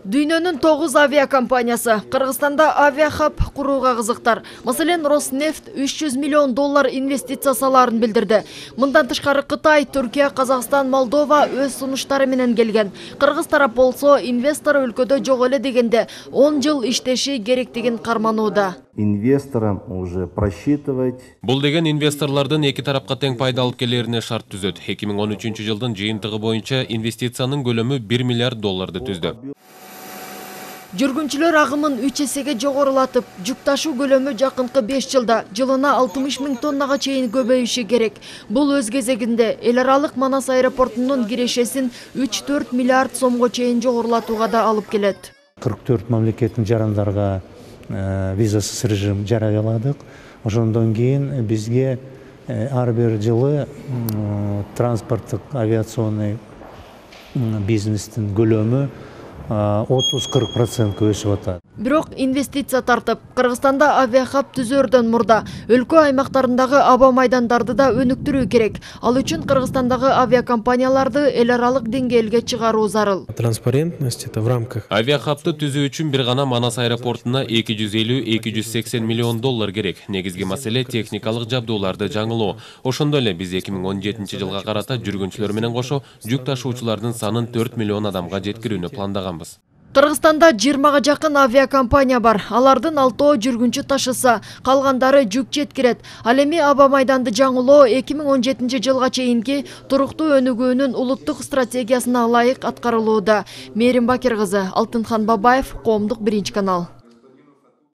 Дүйнөнүн 9 авиакомпаниясы Кыргызстанда авиахаб курууга кызыктар. Маселен, Роснефть $300 миллион инвестиция салаарын билдирди. Мындан тышкары Кытай, Түркия, Казакстан, Молдова өз сунуштары менен келген. Кыргыз тарап болсо инвестор өлкөдө жок эле дегенде 10 жыл иштеши керектигин карманууда. Инвесторам уже просчитывать. Бул деген инвесторлордун эки тарапка тең пайда алып келерине шарт түзөт. 2013 жылдын жыйынтыгы боюнча инвестициянын көлөмү $1 миллиард түздү. Жүргүнчүлөр агымын 3 эсеге жогорулатып, жүк ташуу көлөмү жакынкы 5 жылда жылына 60 000 тоннага чейин көбөйүшү керек. Бул өз кезегинде эл аралык Манас аэропортунун кирешесин 3-4 миллиард сомго чейин жогорулатууга да алып келет. 44 мамлекеттин жарандарга визасыз режим жарыяладык. Ошондон кийин бизге ар бир жылы транспорттук авиационный бизнестин көлөмү 30-40% өсүп атат. Бирок инвестиция тартып, Кыргызстанда авиахаб түзөрдөн мурда өлкө аймактарындагы аба майдандарды да өнүктүрүү керек. Ал үчүн Кыргызстандагы авиакомпанияларды эл аралык деңгээлге чыгаруу зарыл. Транспарентность это в рамках. Авиахабты түзүү үчүн бир гана Манас аэропортуна $250-280 миллион керек. Негизги маселе техникалык жабдууларды жаңылоо. Ошондой эле биз 2017 жылга карата жүргүнчүлөр менен кошо жүк ташуучулардын санын 4 миллион адамга жеткирүүнү пландаган. Кыргызстанда 20-га жакын авиакомпания бар. Алардын 6 жүргүнчү ташыса, калгандары жүк жеткирет. Ал эми аба майданды жаңылоо 2017 жылга чейинки туруктуу өнүгүүнүн улуттук стратегиясына ылайык аткарылууда. Мээрим Бакир кызы, Алтынхан Бабаев, Коомдук 1 канал.